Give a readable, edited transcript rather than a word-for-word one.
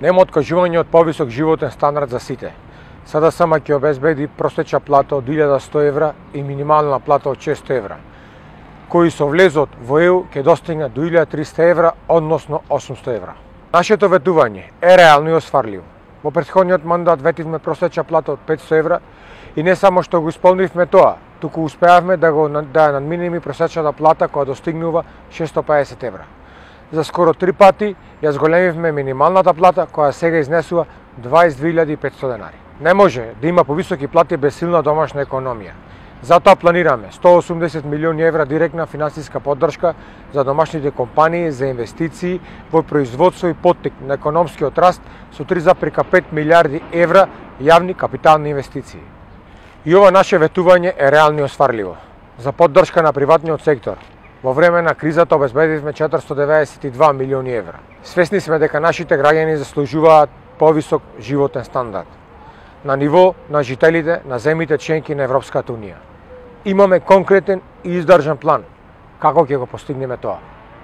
Нема откажување од повисок животен стандард за сите. СДСМ ќе обезбеди просечна плата од 1100 евра и минимална плата од 600 евра, кои со влезот во ЕУ ќе достигнат до 1300 евра, односно 800 евра. Нашето ветување е реално и осварливо. Во претходниот мандат ветивме просечна плата од 500 евра и не само што го исполнивме тоа, туку успеавме да надминеме просечната плата која достигнува 650 евра. За скоро 3 пати ја зголемивме минималната плата која сега изнесува 22.500 денари. Не може да има повисоки плати без силна домашна економија. Затоа планираме 180 милиони евра директна финансиска поддршка за домашните компании за инвестиции во производство и поттик на економскиот раст со 3,5 милиарди евра јавни капитални инвестиции. И ова наше ветување е реално и осварливо. За поддршка на приватниот сектор во време на кризата обезбедивме 492 милиони евра. Свесни сме дека нашите граѓани заслужуваат повисок животен стандард на ниво на жителите на земјите членки на Европската унија. Имаме конкретен и издржан план како ќе го постигнеме тоа.